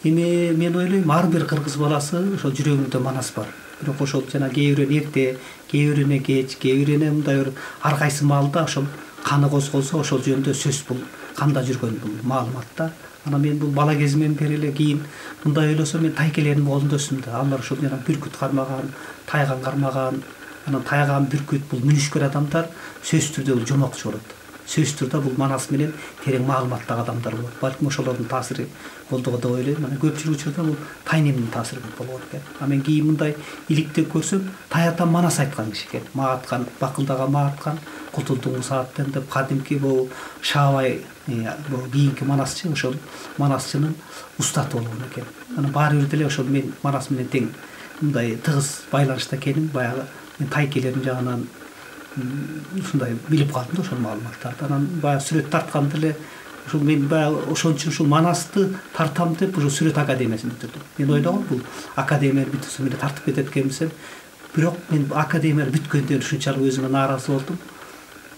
Эми мен ойлойм ар бир кыргыз баласы ошол жүрөгүндө Манас бар. Бирок ошол жана кээ бирөө эрте, кээ бирөө кеч, кээ бирөө мындай бир ар кайсы маалда ошол каны козголсо ошол жөнүндө сөз бул канда жүргөн бул маалымат да. Анан мен бул бала кезимден бери эле кийин мындай ойлосом мен тайкелердин колунда өстүм да. Алар ошол жана бүркүт кармаган, тайган кармаган, анан тайган бүркүт бул мүнүшкөр адамдар сөзсүз түрдө бул жомокчу болот. Сөзсүз түрдө бул Манас менен терең маалыматтагы адамдар болот. Балким ошолордун таасири болду деп ойлойм. Анан көпчүлүк учурда бул Тайнемдин таасири болгон экен. А мен кийин мындай иликтеп көрсөм, Таятам Манас айткан киши экен. Мааткан, бакылдага мааткан, Кутулдуң сааттан деп кадимки бул Шаабай бул кийинки Манасчы, ошол Манасчынын устаты болгон экен. Анан баары бир деле ошол мен Манас менен тең мындай тыгыз байланышта экенин баягы мен тайкелердин жагынан ушундай билип калдым да ошол маалыматтарды. Анан баягы сүрөт тартканда эле ушул мен баягы ошон үчүн ушул Манасты тартам деп ушул сүрөт академиясын бүтүрдүм. Мен ойлогом бул академияны бүтүрсөм эле тартып кетет экенмисин. Бирок мен академияны бүткөндөн ушунчалык өзүмө нааразы болдум.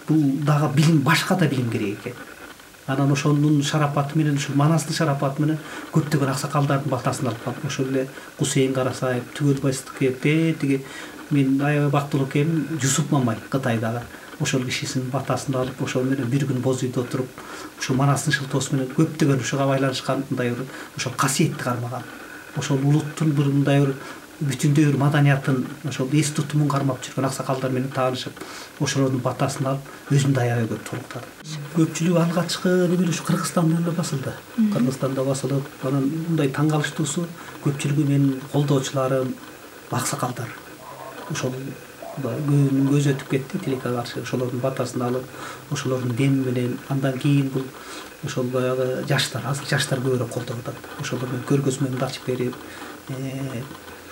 Бул дагы билим, башка да билим керек экен. Анан ошонун шарапаты менен, ушул Манастын шарапаты менен көптөгөн аксакалдардын балтасын алып калдым. Ошол эле Кусейин Карасаев, Түгөл Байсыздыков, тиги мен аябай бактылуу экеним Жусуп Мамай Кытайдагы ошол кишисинин батасын алып, ошол менен бир күн боз үйдө отуруп, ушул Манастын шылтоосу менен көптөгөн ушуга байланышкан мындай бир ошол касиетти кармаган. Ошол улуттун бир мындай бир бүтүндөй бир маданиятын ошол эс тутумун кармап жүргөн аксакалдар менен таанышып, ошолордун батасын алып, өзүмдү аябай көп толуктадым. Көпчүлүгү алгачкы неме ушу Кыргызстанда эле басылды. Кыргызстанда басылып, анан мындай таң калыштуусу көпчүлүгү менин колдоочуларым аксакалдар. Ошол көз өтүп кетти тилекке каршы, ошолордун батасын алып, ошолордун деми менен андан кийин бул ошол баягы жаштар, азыр жаштар көбүрөөк колдоп атат. Ошолор менен көргөзмөмдү ачып берип,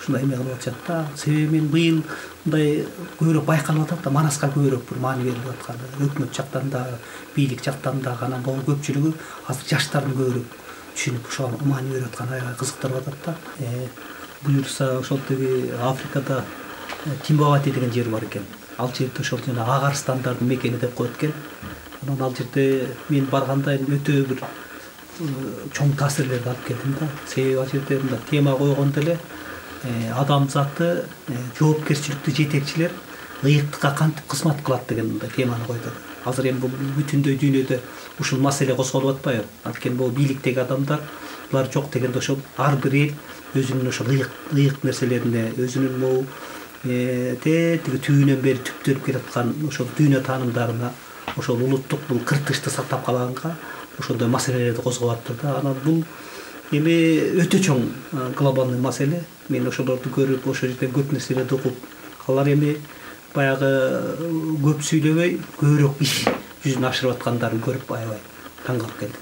ушундай эме кылып атышат да. Себеби мен быйыл мындай көбүрөөк байкалып атат да, Манаска көбүрөөк бир маани берилип атканы, өкмөт жактан да, бийлик жактан да, анан бул көпчүлүгү азыр жаштардын көбүрөөк түшүнүп ушуга маани берип атканы аябай кызыктырып атат да. Буюрса ошол тиги Африкада Тимбавати деген жер бар экен. Ал жерде ошол жана ак арстандардын мекени деп коет экен. Анан ал жерде мен барганда өтө бир чоң таасирлерди алып келдим да. Себеби ал жерде мындай тема койгондо эле адамзатты жоопкерчиликтүү жетекчилер ыйыктыкка кантип кызмат кылат деген мындай теманы койду. Азыр эми бул бүтүндөй дүйнөдө ушул маселе козголуп атпайбы? Анткени бул бийликтеги адамдар булар жок дегенде ошол ар бир эл өзүнүн ошол ыйык нерселерине, өзүнүн могу тиги түбүнөн бери түптөлүп келаткан ошол дүйнө таанымдарына, ошол улуттук бул кыртышты сактап калганга ошондой маселелерди козгоп атты да. Анан бул эми өтө чоң глобалдык маселе. Мен ошолорду көрүп, ошол жерден көп нерселерди угуп, алар эми баягы көп сүйлөбөй, көбүрөөк иш жүзүнө ашырып аткандарын көрүп аябай таң калып келдим.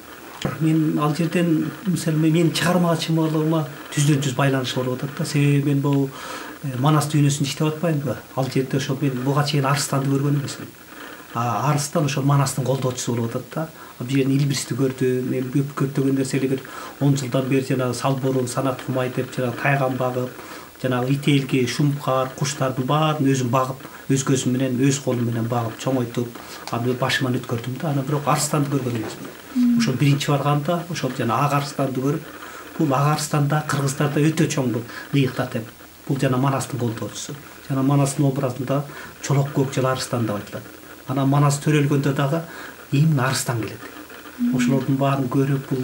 Мен ал жерден мисалы менин чыгарма чымалыгыма түздөн түз байланыш болуп атат да. Себеби мен бул Манас дүйнөсүндө иштеп атпаймынбы? Ал жерде ошол мен буга чейин арыстанды көргөн эмесмин. Арыстан ошол Манастын колдоочусу болуп атат да. Бул жерден Илбирсти көрдүм, мен көптөгөн нерселер 10 жылдан бери жана Салборун, Санат Кумай деп жана тайган багып, жанагы ителги, шумкар, куштардын баарын өзүм багып, өз көзүм менен, өз колум менен багып, чоңойтуп, аны башыман өткөрдүм да. Анан бирок арыстанды көргөн эмесмин. Ошол биринчи барганда ошол жана ак арыстанды көрүп, бул ак арыстанда кыргыздарда өтө чоң бул ыйыктар деп. Бул жана Манастын колдоочусу. Жана Манастын образында чолок көкчөл арыстан деп айтылат. Анан Манас төрөлгөндө дагы именно арыстан келет. Ошолордун баарын көрүп, бул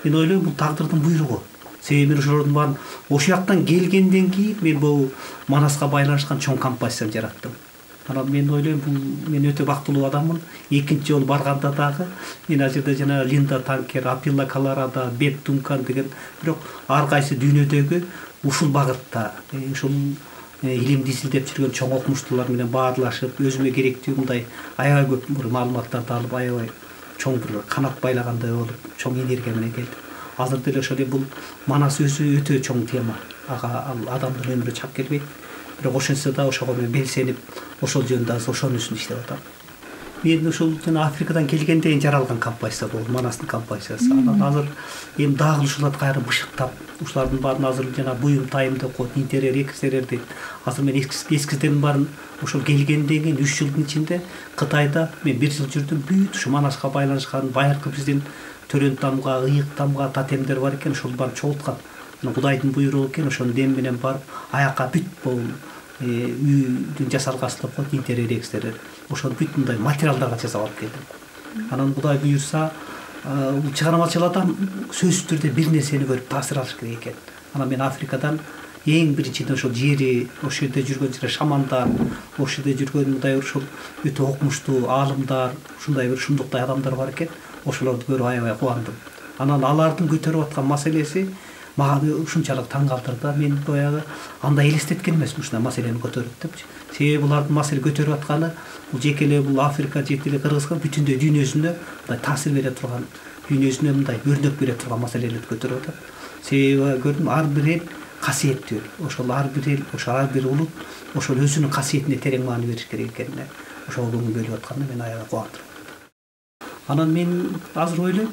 мен ойлойм бул тагдырдын буйругу. Себеби мен ошолордун баарын ошол жактан келгенден кийин мен бул Манаска байланышкан чоң композицияны жараттым. Анан мен ойлойм бул мен өтө бактылуу адаммын. Экинчи жолу барганда дагы мен ал жерде жана Линда Танкер, Апилла Колорадо, Бек Дункан деген бирок ар кайсы дүйнөдөгү ушул багытта ушул илимди изилдеп жүргөн чоң окумуштуулар менен баарлашып, өзүмө керектүү мындай аябай көп бир маалыматтарды алып, аябай чоң бир канат байлагандай болуп, чоң энергия менен келдим. Азыр деле ошол бул Манас өзү өтө чоң тема. Ага ал адамдын өмүрү чап келбейт. Бирок ошентсе да ошого мен белсенип, ошол жөнүндө азыр ошонун үстүндө иштеп атам. Мен ушул жана Африкадан келгенден жаралган композиция болду, Манастын композициясы. Анан азыр эми дагы ушуларды кайра бышыктап, ушулардын баарын азыр жана буюм тайым деп коет, интерьер, экстерьер дейт. Азыр мен эскиздердин баарын ошол келгенден кийин 3 жылдын ичинде Кытайда мен 1 жыл жүрдүм. Бүт ушу Манаска байланышкан байыркы биздин төрөн тамга, ыйык тамга тотемдер бар экен, ошол барып чогулткан. Кудайдын буйругу экен, ошонун дем менен барып аякка бүт бул үйдүн жасалгасын деп коет, интерьер экстерьер. Ошону бүт мындай материалдарга жасап алып келдим. Анан Кудай буйрса, чыгармачыл адам сөзсүз түрдө бир нерсени көрүп таасир алыш керек экен. Анан мен Африкадан эң биринчиден ошол жери, ошол жерде жүргөн жер шамандар, ошол жерде жүргөн мындай ошол өтө окумуштуу аалымдар, ушундай бир шундуктай адамдар бар экен. Ошолорду көрүп аябай кубандым. Анан алардын көтөрүп аткан маселеси мага ушунчалык таң калтырды. Мен баягы андай элестеткен эмесмин ушундай маселени көтөрөт депчи. Себеби булардын маселе көтөрүп атканы бул жеке эле бул Африка, жеке эле Кыргызстан бүтүндөй дүйнөсүнө мындай таасир бере турган, дүйнөсүнө мындай өрнөк бере турган маселелерди көтөрүп атат. Себеби көрдүм, ар бир эл касиеттүү. Ошол ар бир эл, ошол ар бир улут ошол өзүнүн касиетине терең маани бериш керек экенине, ошол көңүл бөлүп атканына мен аябай кубандым. Анан мен азыр ойлойм,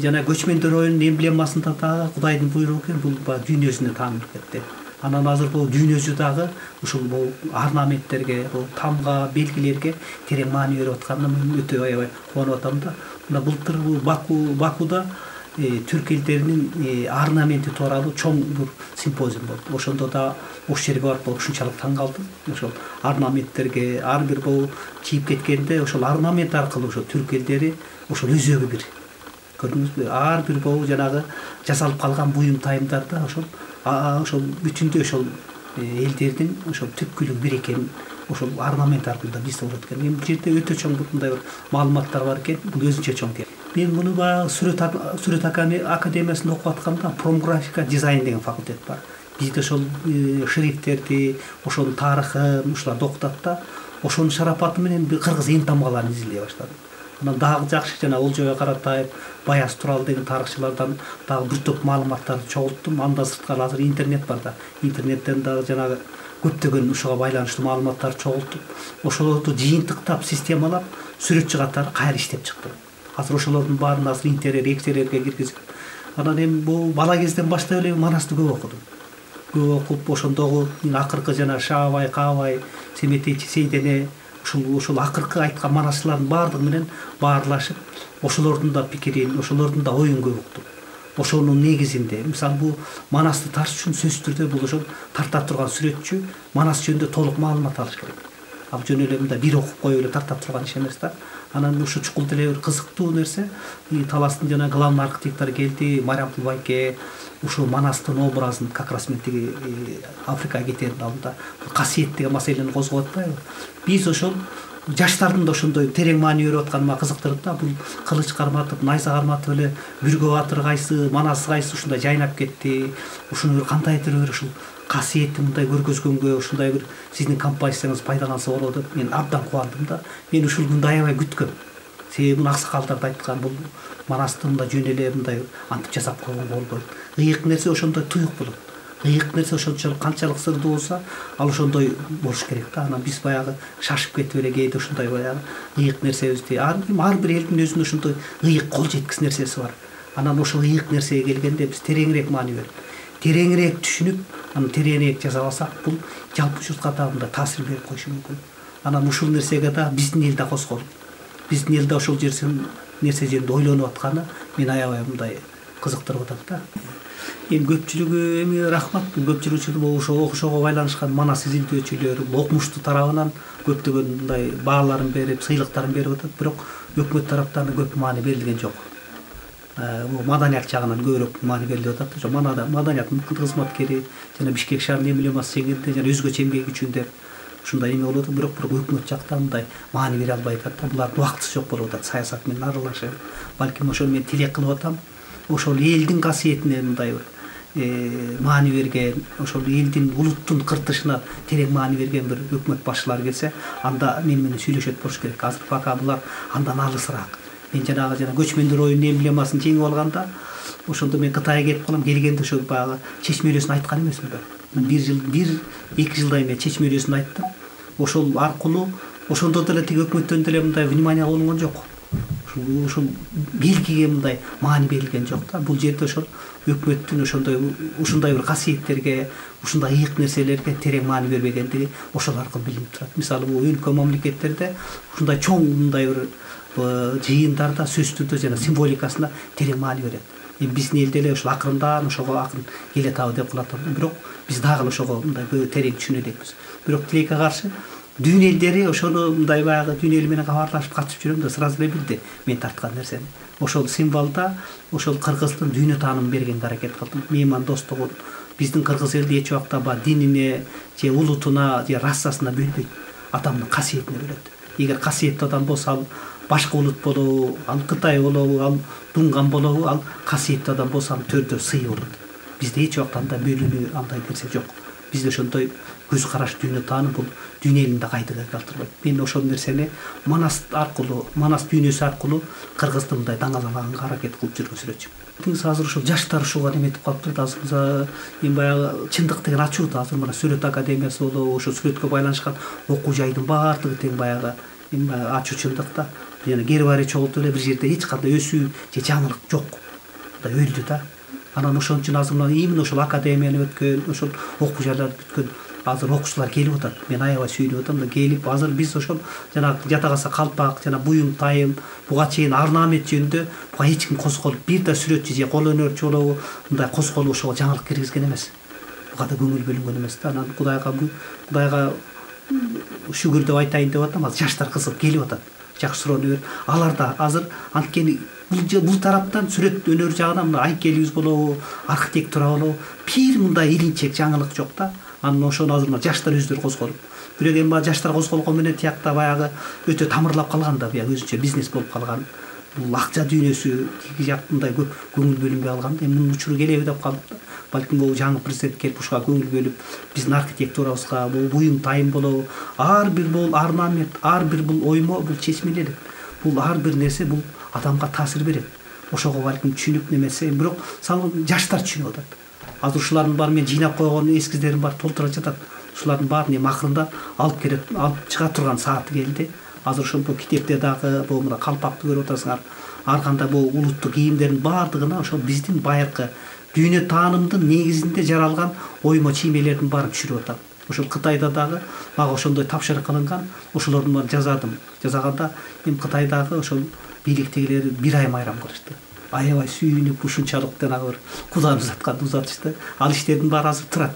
жана көчмөндөр оюнунун эмблемасында дагы Кудайдын буйругу экен, бул дүйнөсүнө таанылып кетти. Анан азыр бул дүйнөсү дагы ушул бул орнаменттерге, бул тамга, белгилерге терең маани берип атканына мен өтө аябай кубанып атам да. Мына былтыр бул Бакуда түрк элдеринин орнаменти тууралуу чоң бир симпозиум болду. Ошондо да ошол жерге барып ушунчалык таң калдым. Ошол орнаменттерге ар бир бул чийип кеткенде ошол орнамент аркылуу ошол түрк элдери ошол өзөгү бир. Көрдүңүзбү? Ар бир бул жанагы жасалып калган буюм тайымдарда ошол бүтүндөй ошол элдердин ошол түпкүлүгү бир экенин ошол орнамент аркылуу да биз болот экен. Бул жерде өтө чоң мындай бир маалыматтар бар экен. Бул өзүнчө чоң. Мен муну баягы сүрөт академиясында окуп атканда промграфика дизайн деген факультет бар. Бизде ошол шрифттерди, ошонун тарыхын ушуларды окутат да. Ошонун шарапаты менен кыргыз эң тамгаларын изилдей баштадым. Анан дагы жакшы жана Олжобай Каратаев, Баяз Турал деген тарыхчылардан дагы бир топ маалыматтарды чогулттум. Андан сырткары азыр интернет бар да. Интернеттен дагы жанагы көптөгөн ушуга байланыштуу маалыматтарды чогултуп, ошолорду жыйынтыктап, системалап, сүрөтчү катары кайра иштеп чыктым. Азыр ошолордун баарын азыр интерьер, экстерьерге киргизип, анан эми бул бала кезден баштап эле Манасты көп окудум. Көп окуп, ошондогу акыркы жана Шаабай, Каабай, Семетечи, Сейдене ушул акыркы айткан манасчылардын баардыгы менен баарлашып, ошолордун да пикирин, ошолордун да оюн көп уктум. Ошонун негизинде, мисалы бул Манасты тартыш үчүн сөзсүз түрдө бул ошол тарта турган сүрөтчү Манас жөнүндө толук маалымат алыш керек. Ал жөн эле мындай бир окуп коюп эле тарта турган иш эмес да. Анан ушу чукул деле бир кызыктуу нерсе, Таластын жана главный архитектор келди, Марям Кулбайке ушул Манастын образын как раз мен тиги Африкага кетердин алдында касиет деген маселени козгоп атпайбы? Биз ошол жаштардын да ошондой терең маани берип атканы мага кызыктырды да. Бул кылыч карматып, найза карматып эле Бүргө батыр кайсы, Манас кайсы ушундай жайнап кетти. Ушуну кандайдыр бир ушул касиетти мындай көргөзгөнгө ушундай бир сиздин композицияңыз пайдаланса болот деп мен абдан кубандым да. Мен ушул күндү аябай күткөм. Себеби аксакалдар да айткан, бул Манасты мындай жөн эле мындай антип жасап койгонго болбойт. Ыйык нерсе ошондой туюк болот. Ыйык нерсе ошончолук канчалык сырдуу болсо, ал ошондой болуш керек да. Анан биз баягы шашып кетип эле кээде ушундай баягы ыйык нерсебизди ар бир элдин өзүнүн ошондой ыйык кол жеткис нерсеси бар. Анан ошол ыйык нерсеге келгенде биз тереңирээк маани берип, тереңирээк түшүнүп, анан тереңирээк жасап алсак, бул жалпы журтка да мындай таасир берип коюшу мүмкүн. Анан ушул нерсеге да биздин эл да козголуп, биздин эл да ошол нерсе жөнүндө ойлонуп атканы мени аябай мындай кызыктырып атат да. Эми көпчүлүгү эми рахмат, көпчүлүгү ошо окушого байланышкан Манас изилдөөчүлөр окумуштуу тарабынан көптөгөн мындай бааларын берип, сыйлыктарын берип атат, бирок өкмөт тараптан көп маани берилген жок. Бул маданият жагынан көбүрөөк маани берилип атат. Ошо маданияттын кызматкери жана Бишкек шаарынын эмблемасы жеңилде жана өзгөчө эмгек үчүн деп ушундай эме болуп атат, бирок өкмөт жактан мындай маани бере албай атат да. Булардын убактысы жок болуп атат саясат менен аралашып. Балким ошону мен тилек кылып атам. Ошол элдин касиетине мындай бир маани берген, ошол элдин улуттун кыртышына терең маани берген бир өкмөт башчылары келсе, анда мен менен сүйлөшөт болуш керек. Азыр пока булар андан алысыраак. Мен жана көчмөндөр оюнунун эмблемасын жеңип алганда, ошондо мен Кытайга кетип калам, келгенде ошо баягы чечме өрөсүн айткан эмесминби? 1-2 жылдай мен чечме өрөсүн айттым. Ошол аркылуу ошондо деле тиги өкмөттөн деле мындай внимание алынган жок. Ушул белгиге мындай маани берилген жок да. Бул жерде ошол өкмөттүн ушундай бир касиеттерге, ушундай ыйык нерселерге терең маани бербегендиги ошол аркылуу билинип турат. Мисалы, бул өлкө мамлекеттерде ушундай чоң мындай бир жыйындарда сөзсүз түрдө жана символикасына терең маани берет. Эми биздин элде эле ошол акырындан ошого акын келатабы деп кылат. Бирок биз дагы ошого мындай терең түшүнө элекпиз. Бирок тилекке каршы дүйнө элдери ошону мындай баягы дүйнө эли менен кабарлашып катышып жүрөм да сразу эле билди мен тарткан нерсени. Ошол символдо ошол кыргыздын дүйнө таанымын бергенге аракет кылдым. Мейман достугун биздин кыргыз элди эч убакта баягы динине же улутуна же расасына бөлбөйт. Адамдын касиетине бөлөт. Эгер касиеттүү адам болсо ал башка улут болобу, ал Кытай болобу, ал дунган болобу, ал касиеттүү адам болсо анын төрдө сыйы болот. Бизде эч убакта андай бөлүнүү андай нерсе жок. Бизде ошондой көз караш дүйнө тааным бул дүйнө элинде кайдыгы калтырбайт. Мен ошол нерсени Манас аркылуу, Манас дүйнөсү аркылуу кыргызды мындай даңазалаганга аракет кылып жүргөн сүрөтчүмүн. Азыр ушул жаштар ушуга неметип калыптыр. Азыр эми баягы чындык деген ачууда. Азыр мына Сүрөт академиясы болобу, ошо сүрөткө байланышкан окуу жайдын баардыгы тең баягы эми ачуу чындыкта. Жана гербарий чогултуп эле бир жерде эч кандай өсүү же жаңылык жок. Мындай өлдү да. Анан ошон үчүн азыр мына именно ошол академияны өткөн, ошол окуу жайларды бүткөн азыр окуучулар келип атат. Мен аябай сүйүнүп атам да келип азыр биз ошол жанагы жата калса калпак жана буюм тайым буга чейин орнамент жөнүндө буга эч ким козголуп бир да сүрөтчү же кол өнөрчү болобу мындай козголуп ошого жаңылык киргизген эмес. Буга да көңүл бөлүнгөн эмес да. Анан Кудайга шүгүр деп айтайын деп атам. Азыр жаштар кызыгып келип атат. Жакшы суроону берип алар да азыр анткени бул тараптан сүрөт өнөр жагынан мына айкелибиз болобу, архитектура болобу бир мындай илинчек жаңылык жок да. Анан ошону азыр мына жаштар өздөрү козголуп. Бирок эми баягы жаштар козголгон менен тиякта баягы өтө тамырлап калган да, баягы өзүнчө бизнес болуп калган. Бул акча дүйнөсү тиги жактындай көп көңүл бөлүнбөй калган. Эми мунун учуру келеби деп калдык да. Балким бул жаңы президент келип ушуга көңүл бөлүп, биздин архитектурабызга, бул буюм тайым болобу, ар бир бул орнамент, ар бир бул оймо, бул чечмелер. Бул ар бир нерсе бул адамга таасир берет. Ошого балким түшүнүп немесе, бирок жаштар түшүнүп атат. Азыр ушулардын баарын мен жыйнап койгон эскиздерим бар, толтура жатат. Ушулардын баарын эми акырында алып чыга турган сааты келди. Азыр ошол китепте дагы бул мына калпакты көрүп атасыңар. Ар кандай бул улуттук кийимдердин баардыгына ошол биздин байыркы дүйнө таанымдын негизинде жаралган оймо чиймелердин баарын түшүрүп атам. Ошол Кытайда дагы мага ошондой тапшырык кылынган, ошолордун баарын жазадым. Жазганда эми Кытайдагы ошол бийликтегилер бир ай майрам кылышты. Аябай сүйүнүп ушунчалык жанагы бир Кудайны узатышты. Ал иштердин баары азыр турат.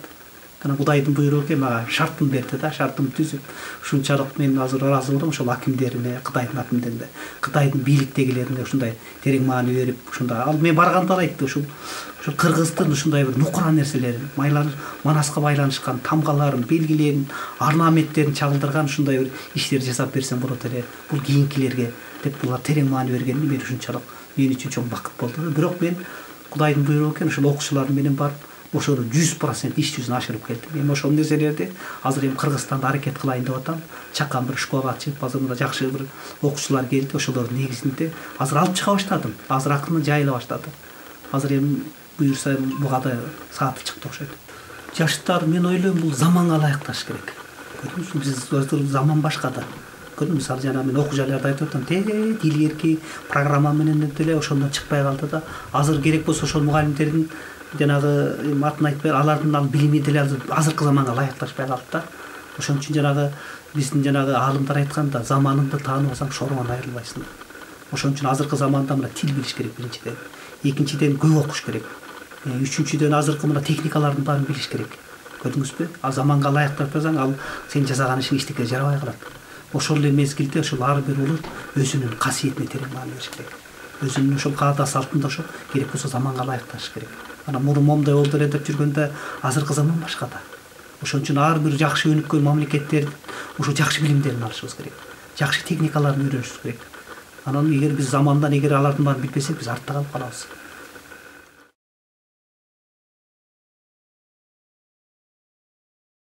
Анан Кудайдын буйругу экен мага шартын берди да, шартын түзүп. Ушунчалык мен азыр ыраазы болдум ошол акимдерине, Кытайдын акимдерине, Кытайдын бийликтегилерине ушундай терең маани берип, ушундай ал мен барганда да айтты ушул кыргыздын ушундай бир нукура нерселерин, Манаска байланышкан тамгаларын, белгилерин, орнаменттерин чагылдырган ушундай бир иштер жасап берсем болот эле. Бул кийинкилерге деп булар терең маани бергени мен ушунчалык мен үчүн чоң бакыт болду. Бирок мен Кудайдын буйругу экен ошол окуучулар менен барып ошону 100% иш жүзүнө ашырып келдим. Эми ошол нерселерди азыр эми Кыргызстанда аракет кылайын деп атам. Чакан бир школа ачып, азыр мында жакшы бир окуучулар келди. Ошолордун негизинде азыр алып чыга баштадым. Азыр акырын жайыла баштады. Азыр эми буюрса буга да сааты чыкты окшойт. Жаштар мен ойлойм бул заманга ылайыкташ керек. Көрдүңүзбү, биз азыр заман башка да. Көрдүңүз, мисалы жана мен окуу жайларда айтып атам, тил эрки программа менен деле ошондон чыкпай калды да. Азыр керек болсо ошол мугалимдердин жанагы атын айтпай, алардын билими деле азыркы заманга ылайыкташпай калды да. Ошон үчүн жанагы биздин жанагы аалымдар айтканда, заманыңды тааныбасаң шоруңан айрылбайсың. Ошон үчүн азыркы заманда мына тил билиш керек биринчиден. Экинчиден көп окуш керек. Үчүнчүдөн азыркы мына техникалардын баарын билиш керек. Көрдүңүзбү? А заманга ылайыкташпасаң, ал сен жасаган ишиң эчтеке жарабай калат. Ошол эле мезгилде ошол ар бир улут өзүнүн касиетине терең маани бериш керек. Өзүнүн ошол каада салтында ошол керек болсо заманга ылайыкташ керек. Анан мурун момундай болду эле деп жүргөндө азыркы заман башка да. Ошон үчүн ар бир жакшы өнүккөн мамлекеттер ошо жакшы билимдерин алышыбыз керек. Жакшы техникаларын үйрөнүшүбүз керек. Анан эгер биз замандан алардын баарын билбесек, биз артта калып калабыз.